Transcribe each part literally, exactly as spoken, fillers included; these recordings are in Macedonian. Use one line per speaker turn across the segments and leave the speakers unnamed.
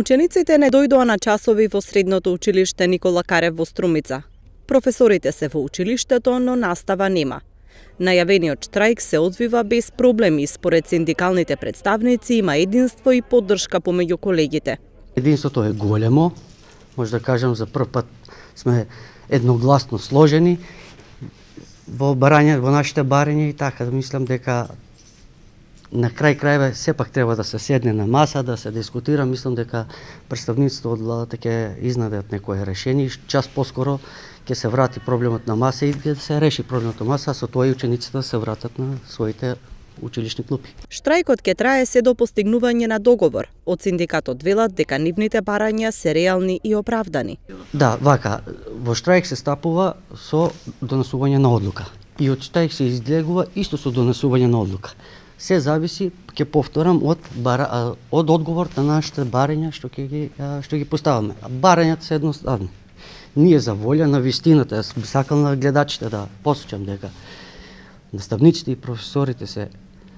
Учениците не дојдоа на часови во средното училиште Никола Карев во Струмица. Професорите се во училиштето, но настава нема. Најавениот штрајк се одвива без проблеми, според синдикалните представници има единство и поддршка помеѓу колегите.
Единството е големо, може да кажам за прв пат сме едногласно сложени во барање, во нашите барања и така да мислам дека на крај крајве сепак треба да се седне на маса, да се дискутира. Мислам дека представниците од владата ќе изнадат некое решение, час поскоро ќе се врати проблемот на маса и ќе се реши проблемот на маса, а со тоа и учениците да се вратат на своите училишни клупи.
Штрајкот ќе трае се до постигнување на договор. Од синдикатот велат дека нивните барања се реални и оправдани.
Да, вака, во штрајк се стапува со донесување на одлука. И од штрајк се излегува исто со донесување на одлука. Се зависи, ќе повторам, од бара, од одговор на нашите барања што ќе ги што ги поставаме. Барањата се едноставни. Ние за волја на вистината, јас би сакал на гледачите да посочам дека наставниците и професорите се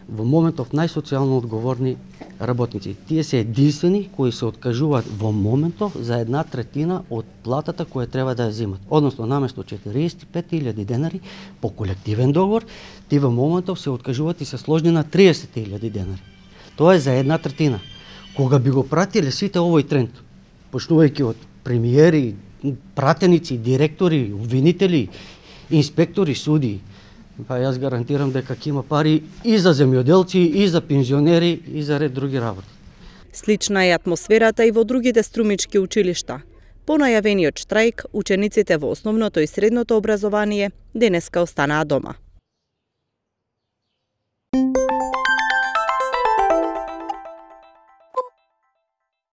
во моментов најсоцијално одговорни работници. Тие се единствени кои се откажуваат во моментов за една третина од платата која треба да ја земат. Односно, наместо четириесет и пет илјади денари по колективен договор, тие во моментов се откажуваат и се сложни на триесет илјади денари. Тоа е за една третина. Кога би го пратиле сите овој тренд, почнувајќи од премиери, пратеници, директори, обвинители, инспектори, судии, па јас гарантирам дека ќе има пари и за земјоделци, и за пензионери, и за ред други работи.
Слична е атмосферата и во другите струмички училишта. По најавениот штрајк, учениците во основното и средното образование денеска останаа дома.